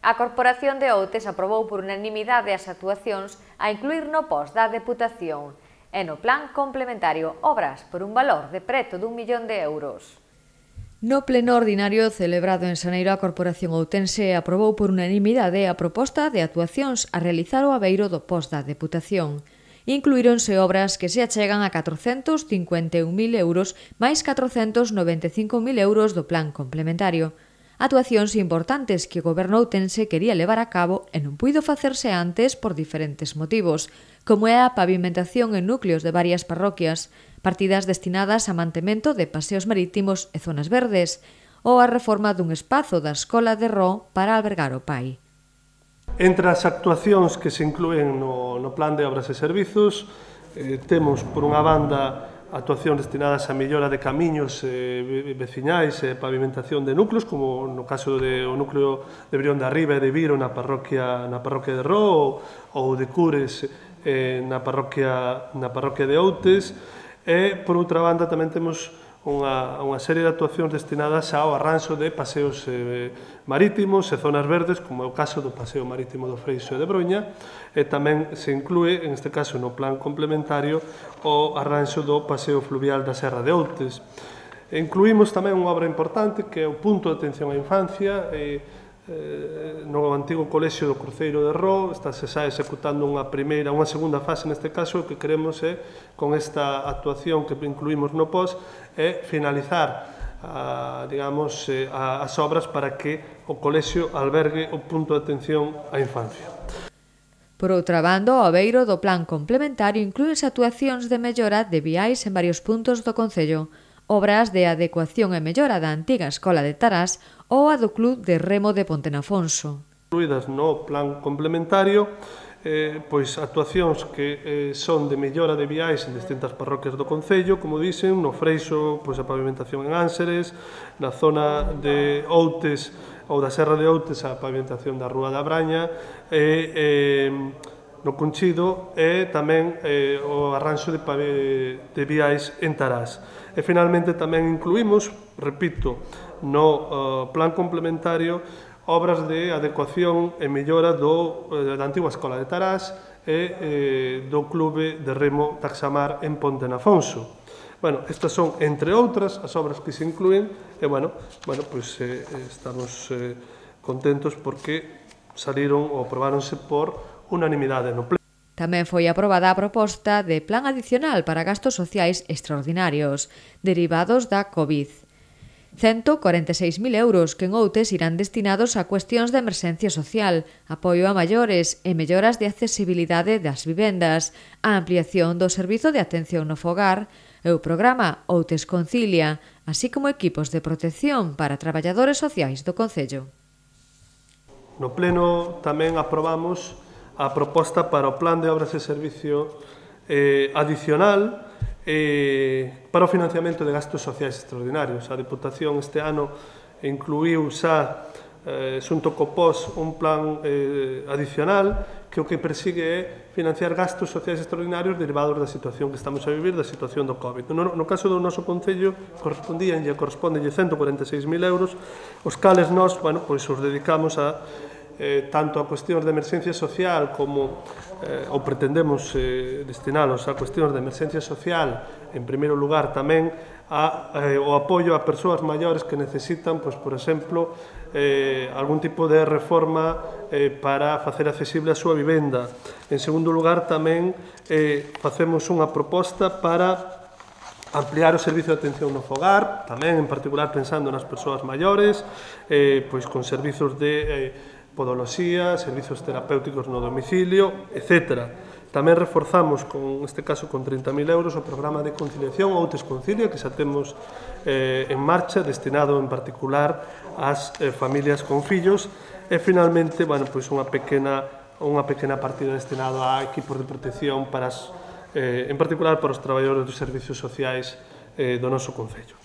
A Corporación de Outes aprobou por unanimidade as actuacións a incluir no POS da Deputación e no Plan Complementario obras por un valor de preto d'1 millón de euros. No pleno ordinario celebrado en Xaneiro, a Corporación outense aprobou por unanimidade a proposta de actuacións a realizar o abeiro do POS da Deputación. Incluíronse obras que se achegan a 451.000 euros máis 495.000 euros do Plan Complementario. Actuacións importantes que o Goberno outense quería levar a cabo e non puido facerse antes por diferentes motivos, como é a pavimentación en núcleos de varias parroquias, partidas destinadas a mantemento de paseos marítimos e zonas verdes, ou a reforma dun espazo da Escola de Ró para albergar o PAI. Entre as actuacións que se inclúen no Plan de Obras e Servizos, temos, por unha banda, actuacións destinadas á mellora de camiños veciñais e pavimentación de núcleos, como no caso do núcleo de Brión de Arriba e de Viro na parroquia de Ró, ou de Cures na parroquia de Outes. E, por outra banda, tamén temos unha serie de actuacións destinadas ao arranxo de paseos marítimos e zonas verdes, como é o caso do paseo marítimo do Freixo e de Broña, e tamén se inclúe, en este caso no Plan Complementario, o arranxo do paseo fluvial da Serra de Outes. Incluímos tamén unha obra importante que é o punto de atención á infancia, no antigo colexio do Cruceiro de Ró. Está-se xa executando unha segunda fase neste caso. O que queremos é, con esta actuación que incluímos no POS, é finalizar as obras para que o colexio albergue o punto de atención á infancia. Por outra banda, o abeiro do Plan Complementario inclúe actuacións de mellora de viais en varios puntos do concello, obras de adecuación e mellora da antiga Escola de Tarás ou a do Club de Remo de Pontenafonso. Incluídas no Plan Complementario, pois actuacións que son de mellora de viais en distintas parroquias do concello, como dicen, no Freixo, pois a pavimentación en Ánseres, na zona de Outes ou da Serra de Outes a pavimentación da Rúa da Braña, no Conchido e tamén o arranxo de viais en Tarás. E finalmente tamén incluímos, repito, no Plan Complementario, obras de adecuación e mellora da antiga Escola de Tarás e do Clube de Remo Taxamar en Pontenafonso. Estas son, entre outras, as obras que se inclúen e, estamos contentos porque saliron ou aprobáronse por unanimidade no Pleno. Tamén foi aprobada a proposta de plan adicional para gastos sociais extraordinarios, derivados da COVID. 146.000 euros que en Outes irán destinados a cuestións de emerxencia social, apoio a maiores e melloras de accesibilidade das vivendas, a ampliación do servizo de atención no fogar e o programa Outes Concilia, así como equipos de protección para traballadores sociais do concello. No Pleno tamén aprobamos a proposta para o Plan de Obras e Servicio adicional para o financiamento de gastos sociais extraordinarios. A Deputación este ano incluíu xa, xunto co POS, un plan adicional que o que persigue é financiar gastos sociais extraordinarios derivados da situación que estamos a vivir, da situación do COVID. No caso do noso Concello, corresponde 146.000 euros, os cales nós, os dedicamos a tanto a cuestións de emerxencia social como ou pretendemos destinalos a cuestións de emerxencia social, en primeiro lugar tamén o apoio a persoas maiores que necesitan, por exemplo, algún tipo de reforma para facer accesible a súa vivenda. En segundo lugar, tamén facemos unha proposta para ampliar o servizo de atención no fogar, tamén en particular pensando nas persoas maiores, pois con servizos de podoloxía, servizos terapéuticos no domicilio, etc. Tamén reforzamos, neste caso con 30.000 euros, o programa de conciliación Outes Concilia, que xa temos en marcha, destinado en particular ás familias con fillos, e finalmente, unha pequena partida destinada a equipos de protección, en particular para os traballadores dos servizos sociais do noso concello.